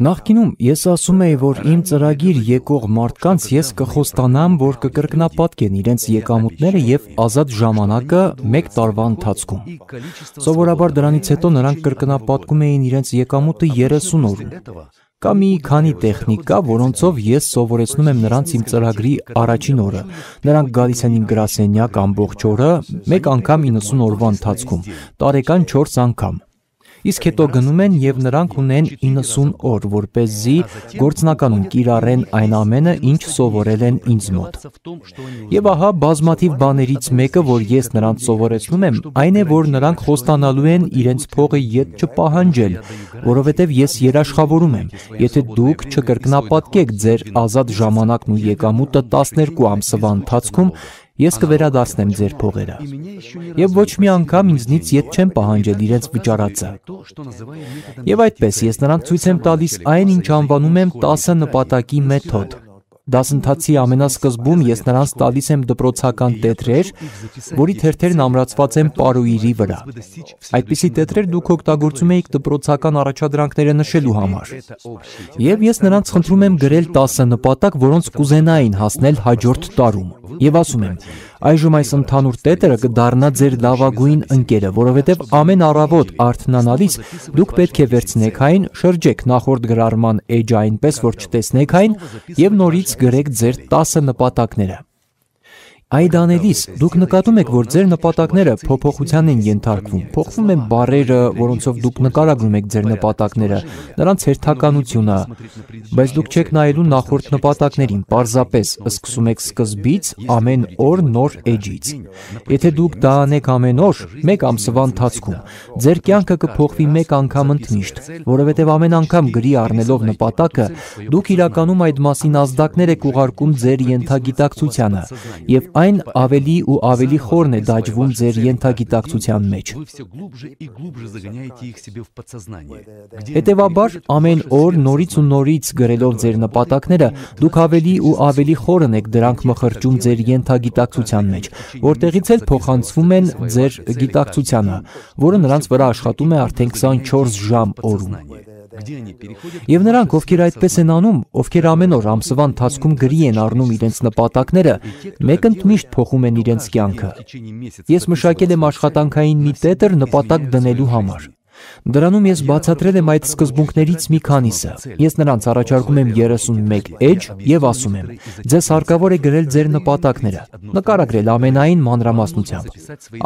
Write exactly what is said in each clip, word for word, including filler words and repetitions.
Նախկինում ես ասում էի, որ իմ ծրագիր եկող մարդկանց ես կխոստանամ, որ կկրկնապատկեն իրենց եկամուտները եւ ազատ ժամանակը մեկ տարվա ընթացքում։ Սովորաբար դրանից հետո նրանք կրկնապատկում էին իրենց եկամուտը երեսուն օրում։ Կա մի քանի տեխնիկա, որոնցով ես սովորեցնում եմ նրանց իմ ծրագրի առաջին օրը։ Նրանք գալիս են իմ գրասենյակ ամբողջ օրը, մեկ անգամ իննսուն օրվա ընթացքում, տարեկան չորս անգամ։ Իսկ հետո գնում են եւ նրանք ունեն իննսուն օր, որպեսզի գործնականում կիրառեն այն ամենը, ինչ սովորել են ինձ մոտ։ Եվ ահա բազմաթիվ բաներից մեկը, որ ես նրանց սովորեցնում եմ, այն է, որ նրանք խոստանալու են իրենց փողը ետ չպահանջել, որովհետեւ ես երաշխավորում եմ, եթե դուք չկրկնապատկեք ձեր ազատ ժամանակն ու եկամուտը տասներկու ամսվա ընթացքում, ես կվերադարձնեմ ձեր փողերը։ Եվ ոչ մի անգամ ինձնից ետ չեմ պահանջել իրենց վճարածը։ Եվ այդպես ես նրանց ցույց եմ տալիս այն, ինչ անվանում եմ տասը նպատակի մեթոդ։ Դասընթացի ամենասկզբում ես նրանց տալիս եմ դպրոցական տետրեր, որի թերթերն ամրացված են պարույրի վրա։ Այդպիսի տետրեր դուք օգտագործում եք դպրոցական առաջադրանքները նշելու համար։ Եվ ես նրանց խնդրում եմ գրել տասը նպատակ, որոնց կուզենային հասնել հաջորդ տարում։ Եվ ասում եմ, այժմ այս ընդհանուր տետրը կդառնա ձեր լավագույն ընկերը, որովհետև ամեն առավոտ արթնանալիս դուք պետք է վերցնեք այն, շրջեք նախորդ գրառման էջը այնպես, որ չտեսնեք այն, եւ նորից գրեք ձեր տասը նպատակները։ Այդ անելիս դուք նկատում եք, որ ձեր նպատակները փոփոխության են ենթարկվում, փոխվում են բառերը, որոնցով դուք նկարագրում եք ձեր նպատակները, նրանց հերթականությունը, բայց դուք չեք նայելու նախորդ նպատակներին, պարզապես սկսում եք սկզբից, ամեն օր նոր էջից։ Եթե դուք դա անեք ամեն օր, մեկ ամսվա ընթացքում, ձեր կյանքը կփոխվի մեկ անգամ ընդմիշտ, որովհետև ամեն անգամ գրի առնելով նպատակը, դուք իրականում այդ մասին ազդակներ եք ուղարկում ձեր ենթագիտակցությանը, եւ այն ավելի ու ավելի խորն է դաջվում ձեր ենթագիտակցության մեջ։ Հետևաբար, ամեն օր նորից ու նորից գրելով ձեր նպատակները, դուք ավելի ու ավելի խորն եք դրանք մխրճում ձեր ենթագիտակցության մեջ, որտեղից էլ փոխանցվում են ձեր գիտակցությանը, որը նրանց վրա աշխատում է արդեն քսանչորս ժամ օրում։ Եվ նրանք, ովքեր այդպես են անում, ովքեր ամեն օր ամսվա ընթացքում գրի են առնում իրենց նպատակները, մեկ ընդմիշտ փոխում են իրենց կյանքը։ Ես մշակել եմ աշխատանքային մի տետր նպատակ դնելու համար։ Դրանում ես բացատրել եմ այդ սկզբունքներից մի քանիսը։ Ես նրանց առաջարկում եմ երեսունմեկ էջ եւ ասում եմ. ձեզ հարկավոր է գրել ձեր նպատակները, նկարագրել ամենայն մանրամասնությամբ։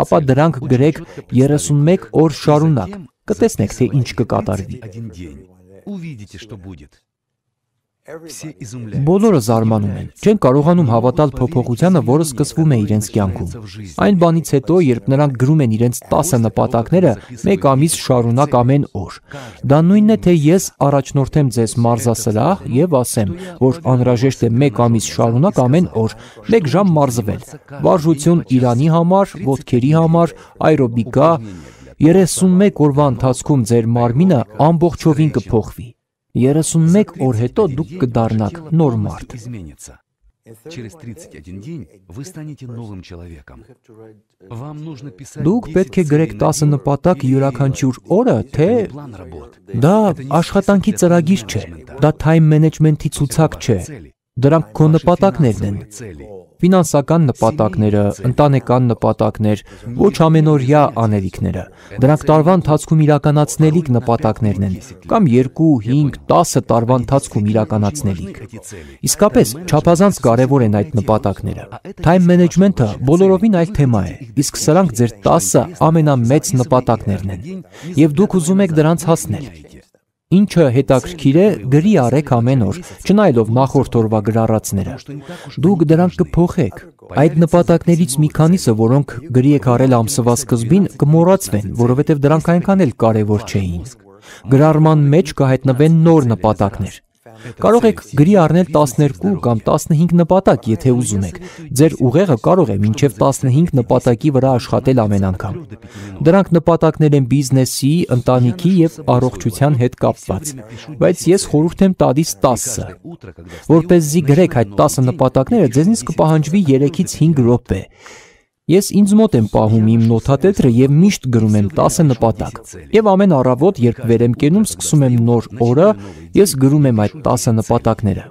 Ապա դրանք գրեք երեսունմեկ օր շարունակ։ Կտեսնեք, թե ինչ կկատարվի։ Բոլորը զարմանում են, չեն կարողանում հավատալ փոփոխությանը, որը սկսվում է իրենց կյանքում։ Այն բանից հետո, երբ նրանք գրում են իրենց տասը նպատակները, մեկ ամիս շարունակ ամեն օր։ Դա նույնն է, թե ես առաջնորդեմ ձեզ մարզասրահ եւ ասեմ, որ անհրաժեշտ է մեկ ամիս շարունակ ամեն օր, մեկ ժամ մարզվել։ Վարժություն Իրանի համար, ոտքերի համար, աերոբիկա, երեսունմեկ օրվա ընթացքում ձեր մարմինը ամբողջովին կփոխվի։ երեսունմեկ օր հետո դուք կդառնաք նոր մարդ։ Դուք պետք է գրեք տասը նպատակ յուրաքանչյուր օրը, թե դա աշխատանքի ծրագիր չէ, դա թայմ մենեջմենթի ցուցակ չէ, դրանք քո նպատակներն են։ Ֆինանսական նպատակները, ընտանեկան նպատակներ, ոչ ամենօրյա անելիքները, դրանք տարվա ընթացքում իրականացնելիք նպատակներն են, կամ երկու, հինգ, տասը տարվա ընթացքում իրականացնելիք։ Իսկապես, չափազանց կարևոր են այդ նպատակները։ Թայմ մենեջմենթը բոլորովին այլ թեմա է, իսկ սրանք ձեր տասը ամենամեծ նպատակներն են, եւ դուք ուզում եք դրանց հասնել։ Ինչը հետաքրքիր է, գրի առեք ամեն օր, չնայելով նախորդ օրվա գրառածները։ Դուք դրանք կփոխեք։ Այդ նպատակներից մի քանիսը, որոնք գրի եք առել ամսվա սկզբին, կմոռացվեն, որովհետև դրանք այնքան էլ կարևոր չէին։ Գրառման մեջ կհայտնվեն նոր նպատակներ։ Կարող եք գրի առնել տասներկու կամ տասնհինգ նպատակ, եթե ուզում եք։ Ձեր ուղեղը կարող է մինչև տասնհինգ նպատակի վրա աշխատել ամեն անգամ։ Դրանք նպատակներ են բիզնեսի, ընտանիքի եւ առողջության հետ կապված։ Բայց ես խորհուրդ եմ տալիս տասը։ Որպեսզի գրեք այդ տասը նպատակները, ձեզնից կպահանջվի երեքից հինգ րոպե։ Ես ինձ մոտ եմ պահում իմ նոթատետրը եւ միշտ գրում եմ տասը նպատակ։ Եվ ամեն առավոտ, երբ վեր եմ կենում, սկսում եմ նոր օրը, ես գրում եմ այդ տասը նպատակները։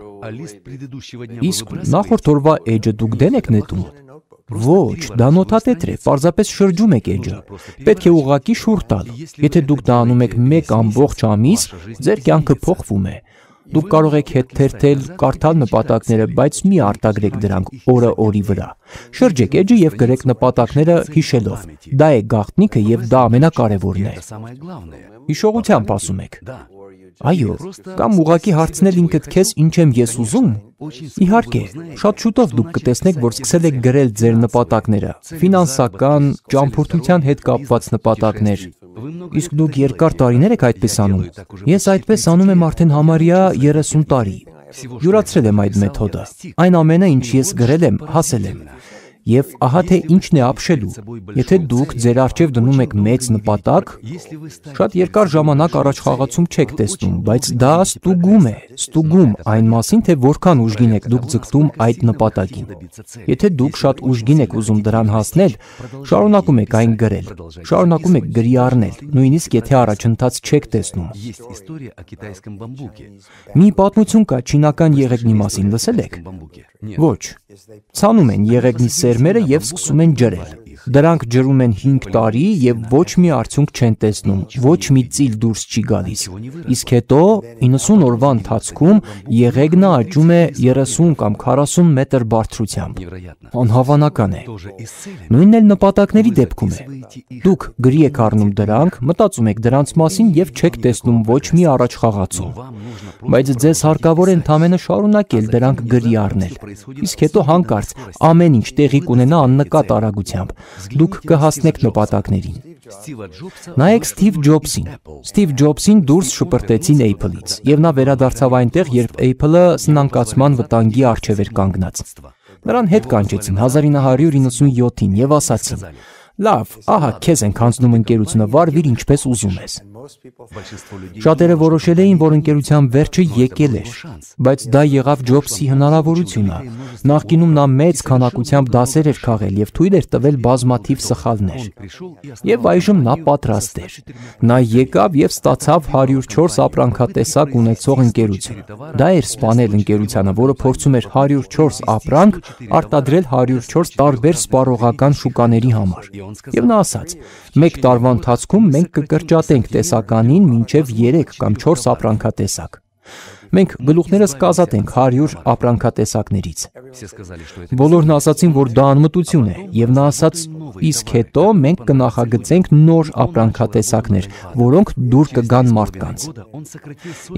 Իսկ նախորդ օրվա էջը դուք դեն եք նետում։ Ոչ, դա նոթատետր է, պարզապես շրջում եք էջը։ Պետք է ուղղակի շուռ տալ։ Եթե դուք դա անում եք մեկ ամբողջ ամիս, ձեր կյանքը փոխվում է։ Դուք կարող եք հետ թերթել, կարդալ նպատակները, բայց մի արտագրեք դրանք օրը օրի վրա։ Շրջեք էջը եւ գրեք նպատակները հիշելով։ Դա է գաղտնիքը եւ դա ամենակարևորն է։ Հիշողությամբ ասում եք։ Այո, կամ ուղղակի հարցնել ինքդ քեզ ինչ եմ ես ուզում։ Իհարկե, շատ շուտով դուք կտեսնեք, որ սկսել եք գրել ձեր նպատակները, ֆինանսական, ճամփորդության հետ կապված նպատակներ։ Իսկ դուք երկար տարիներ եք այդպես անում։ Ես այդպես անում եմ արդեն համարյա երեսուն տարի։ Յուրացրել եմ այդ մեթոդը։ Այն ամենը, ինչ ես գրել եմ, հասել եմ։ Եվ ահա թե ինչն է ապշելու։ Եթե դուք ձեր առջև դնում եք մեծ նպատակ, շատ երկար ժամանակ առաջ խաղացում չեք տեսնում, բայց դա ստուգում է, ստուգում այն մասին, թե որքան ուժգին եք դուք ձգտում այդ նպատակին։ Եթե դուք շատ ուժգին եք ուզում դրան հասնել, շարունակում եք այն գրել, շարունակում եք գրի առնել, նույնիսկ եթե առաջընթաց չեք տեսնում։ Մի պատմություն կա չինական եղեգնի մասին, լսել եք։ Ոչ, ցանում են եղեգնի սերմերը եւ սկսում են ջրել։ Դրանք ջրում են հինգ տարի եւ ոչ մի արդյունք չեն տեսնում, ոչ մի ծիլ դուրս չի գալիս։ Իսկ հետո իննսուն օրվա ընթացքում եղեգնը աճում է երեսուն կամ քառասուն մետր բարձրությամբ։ Անհավանական է։ Նույնն էլ նպատակների դեպքում է։ Դուք գրի եք առնում դրանք, մտածում եք դրանց մասին եւ չեք տեսնում ոչ մի առաջխաղացում։ Բայց ձեզ հարկավոր է ընդամենը շարունակել դրանք գրի առնել։ Իսկ հետո հանկարծ ամեն ինչ տեղի կունենա աննկատ արագությամբ։ Դուք կհասնեք նպատակներին։ Նայեք Սթիվ Ջոբսին։ Սթիվ Ջոբսին դուրս շպրտեցին Apple-ից, եւ նա վերադարձավ այնտեղ, երբ Apple-ը սնանկացման վտանգի առջև էր կանգնած։ Նրան հետ կանչեցին հազար ինը հարյուր իննսունյոթին եւ ասացին. «Լավ, ահա քեզ ենք հանձնում ընկերությունը, վարվիր ինչպես ուզում ես»։ Շատերը որոշել էին, որ ընկերության վերջը եկել էր, բայց դա եղավ Ջոբսի հնարավորությունը։ Նախկինում նա մեծ քանակությամբ դասեր էր քաղել եւ թույլ էր տվել բազմաթիվ սխալներ։ Եվ այժմ նա պատրաստ էր։ Նա եկավ եւ ստացավ հարյուր չորս ապրանքատեսակ ունեցող ընկերություն։ Դա էր սպանել ընկերությանը, որը փորձում էր հարյուր չորս ապրանք արտադրել հարյուր չորս տարբեր սպառողական շուկաների համար։ Եվ նա ասաց. «Մեկ տարվա ընթացքում մենք կկրճատենք տեսականին մինչև երեք կամ չորս ապրանքատեսակ։ Մենք գլուխներս կազատենք հարյուր ապրանքատեսակներից»։ Բոլորն ասացին, որ դա անմտություն է, եւ նա ասաց. «Իսկ հետո մենք կնախագծենք նոր ապրանքատեսակներ, որոնք դուր կգան մարդկանց»։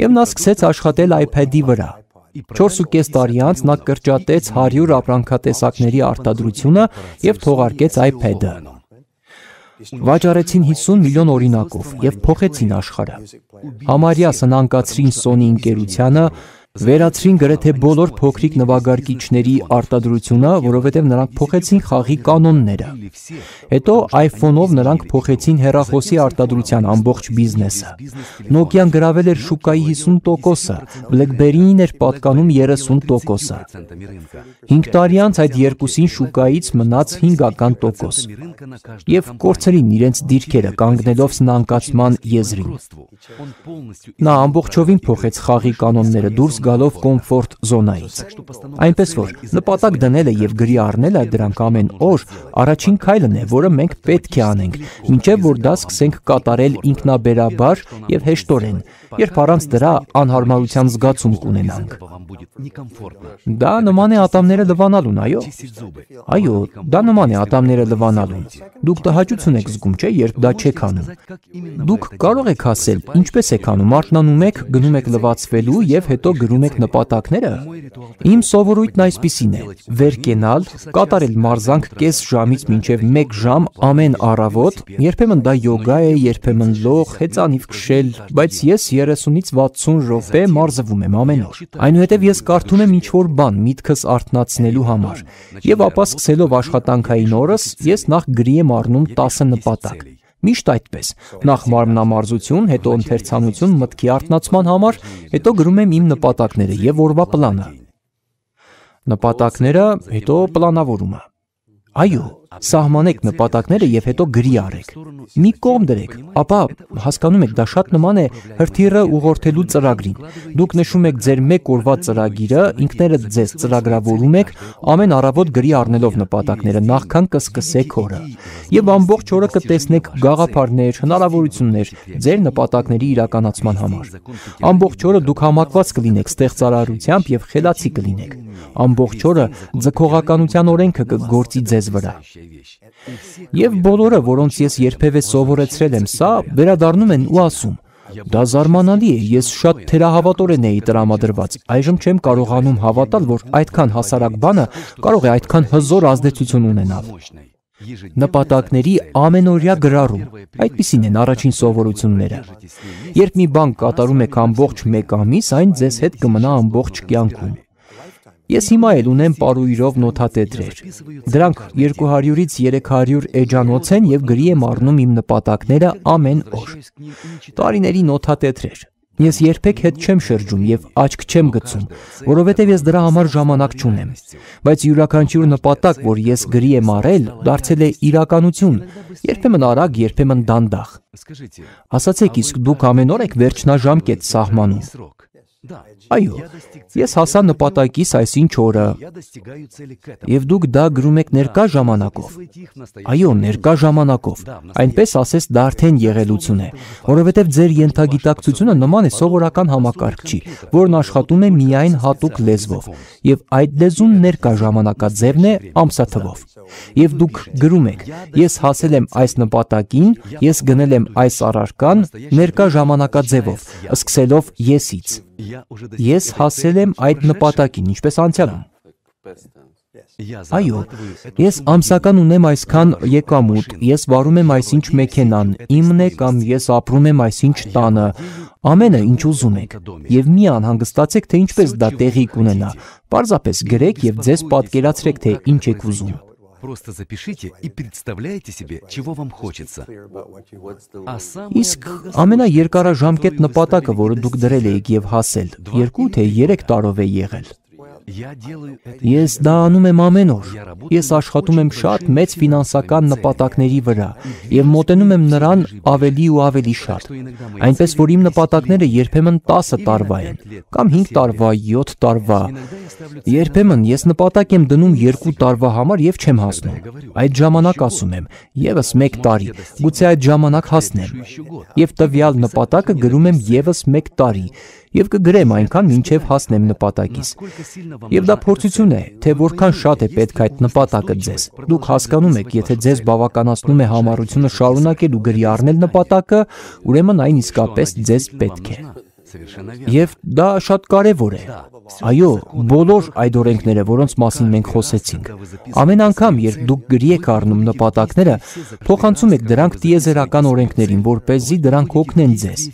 Եվ նա սկսեց աշխատել iPad-ի վրա։ չորս ու կես տարի անց նա կրճատեց հարյուր ապրանքատեսակների արտադրությունը եւ թողարկեց iPad-ը։ Վաճառեցին հիսուն միլիոն օրինակով եւ փոխեցին աշխարհը։ Համարյա սնանկացրին Sony ընկերությանը, վերացրին գրեթե բոլոր փոքրիկ նվագարկիչների արտադրությունը, որովհետև նրանք փոխեցին խաղի կանոնները։ Հետո iPhone-ով նրանք փոխեցին հեռախոսի արտադրության ամբողջ բիզնեսը։ Nokia-ն գրավել էր շուկայի հիսուն տոկոսը, BlackBerry-ին էր պատկանում երեսուն տոկոսը։ հինգ տարի անց այդ երկուսին շուկայից մնաց հինգական տոկոս։ Եվ կորցրին իրենց դիրքերը կանգնելով սնանկացման եզրին։ Նա ամբողջովին փոխեց խաղի կանոնները դուրս գալով կոմֆորտ զոնայից։ Այնպես որ նպատակ դնելը եւ գրի առնելը դրանք ամեն օր առաջին քայլն է, որը մենք պետք է անենք, մինչեւ որ դա սկսենք կատարել ինքնաբերաբար եւ հեշտորեն, երբ առանց դրա անհարմարության զգացում կունենանք։ Դա նման է ատամները լվանալուն, այո։ Այո, դա նման է ատամները լվանալուն։ Դուք տհաճություն եք զգում, չէ՞, երբ դա չեք անում։ Դուք կարող եք ասել, ինչպես եք անում, արթնանում եք, գնում եք լվացվելու եւ հետո գրում եք նպատակները։ Իմ սովորույթն այսպիսին է. վեր կենալ, կատարել մարզանք կես ժամից մինչև մեկ ժամ ամեն առավոտ, երբեմն դա յոգա է, երբեմն լող, հեծանիվ քշել, բայց ես երեսունից վաթսուն րոպե մարզվում եմ ամեն օր։ Այնուհետև ես կարդում եմ ինչ-որ բան միտքս արթնացնելու համար, եւ ապա սկսելով աշխատանքային օրս, ես նախ գրի եմ առնում տասը նպատակ։ Միշտ այդպես, նախ մարմնամարզություն, հետո ընթերցանություն մտքի արթնացման համար, հետո գրում եմ իմ նպատակները եւ օրվա պլանը։ Նպատակները, հետո պլանավորումը։ Այո, Սահմանեք նպատակները եւ հետո գրի արեք։ Մի կողմ դրեք, ապա հասկանում եք, դա շատ նման է հրթիռը ուղղորդելու ծրագրին։ Դուք նշում եք ձեր մեկ օրվա ծրագիրը, ինքներդ ձեզ ծրագրավորում եք, ամեն առավոտ գրի առնելով նպատակները, նախքան կսկսեք օրը։ Եվ ամբողջ օրը կտեսնեք գաղափարներ, հնարավորություններ ձեր նպատակների իրականացման համար։ Ամբողջ օրը դուք համակված կլինեք ստեղծարարությամբ եւ խելացի կլինեք։ Ամբողջ օրը ձգողականության օրենքը կգործի ձեզ վրա։ Եվ բոլորը, որոնց ես երբևէ սովորեցրել եմ սա, վերադառնում են ու ասում. դա զարմանալի է, ես շատ թերահավատորեն էի տրամադրված, այժմ չեմ կարողանում հավատալ, որ այդքան հասարակ բանը կարող է այդքան հզոր ազդեցություն ունենալ։ Նպատակների ամենօրյա գրառում, այդպիսին են առաջին սովորությունները։ Երբ մի բան կատարում եք ամբողջ մեկ ամիս, այն ձեզ հետ կմնա ամբողջ կյանքում։ Ես հիմա էլ ունեմ պարույրով նոթատետրեր։ Դրանք երկու հարյուրից երեք հարյուր էջանոց են եւ գրի եմ առնում իմ նպատակները ամեն օր։ Տարիների նոթատետրեր։ Ես երբեք հետ չեմ շրջում եւ աչք չեմ գցում, որովհետեւ ես դրա համար ժամանակ չունեմ։ Բայց յուրաքանչյուր նպատակ, որ ես գրի եմ առել, դարձել է իրականություն, երբեմն արագ, երբեմն դանդաղ։ Ասացեք, իսկ դուք ամեն օր եք վերջնաժամկետ սահմանում։ Այո, ես հասա նպատակիս այսինչ օրը, եւ դուք դա գրում եք ներկա ժամանակով։ Այո, ներկա ժամանակով, այնպես ասես դա արդեն եղելություն է, որովհետեւ ձեր ենթագիտակցությունը նման է սովորական համակարգչի, որն աշխատում է միայն հատուկ լեզվով, եւ այդ լեզուն ներկա ժամանակաձևն է ամսաթվով։ Եվ դուք գրում եք. ես հասել եմ այս նպատակին, ես գնել եմ այս առարկան ներկա ժամանակաձևով, սկսելով եսից։ Ես հասել եմ այդ նպատակին, ինչպես անցյալում։ Այո, ես ամսական ունեմ այսքան եկամուտ, ես վարում եմ այսինչ մեքենան, իմն է կամ ես ապրում եմ այսինչ տանը, ամենը ինչ ուզում եք, եւ մի անհանգստացեք, թե ինչպես դա տեղի կունենա, պարզապես գրեք եւ ձեզ պատկերացրեք, թե ինչ եք ուզում։ Просто запишите и представляйте себе, чего вам хочется. Իսկ ամենաերկարաժամկետ նպատակը, որը դուք դրել եք եւ հասել, երկու թե երեք տարով է եղել։ Ես դա անում եմ ամեն օր։ Ես աշխատում եմ շատ մեծ ֆինանսական նպատակների վրա եւ մոտենում եմ նրան ավելի ու ավելի շատ։ Այնպես որ իմ նպատակները երբեմն տասը տարվա են, կամ հինգ տարվա, յոթ տարվա։ Երբեմն ես նպատակ եմ դնում երկու տարվա համար եւ չեմ հասնում։ Այդ ժամանակ ասում եմ, եւս մեկ տարի, գուցե այդ ժամանակ հասնեմ։ Եվ տվյալ նպատակը գրում եմ եւս մեկ տարի։ Եվ կգրեմ այնքան, մինչև հասնեմ նպատակիս։ Եվ դա փորձություն է, թե որքան շատ է պետք այդ նպատակը ձեզ։ Դուք հասկանում եք, եթե ձեզ բավականացնում է համառությունը շարունակել ու գրի առնել նպատակը, ուրեմն այն իսկապես ձեզ պետք է։ Եվ դա շատ կարևոր է։ Այո, բոլոր այդ օրենքները, որոնց մասին մենք խոսեցինք։ Ամեն անգամ, երբ դուք գրի եք առնում նպատակները, փոխանցում եք դրանք տիեզերական օրենքներին, որպեսզի դրանք օգնեն ձեզ։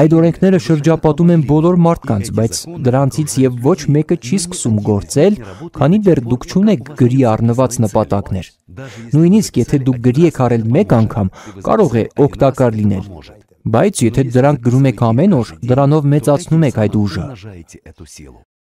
Այդ օրենքները շրջապատում են բոլոր մարդկանց, բայց դրանցից եւ ոչ մեկը չի սկսում գործել, քանի դեռ դուք չունեք գրի առնված նպատակներ։ Նույնիսկ եթե դուք գրի եք առել մեկ անգամ, կարող է օգտակար լինել։ Բայց եթե դրանք գրում եք ամեն օր, դրանով մեծացնում եք այդ ուժը։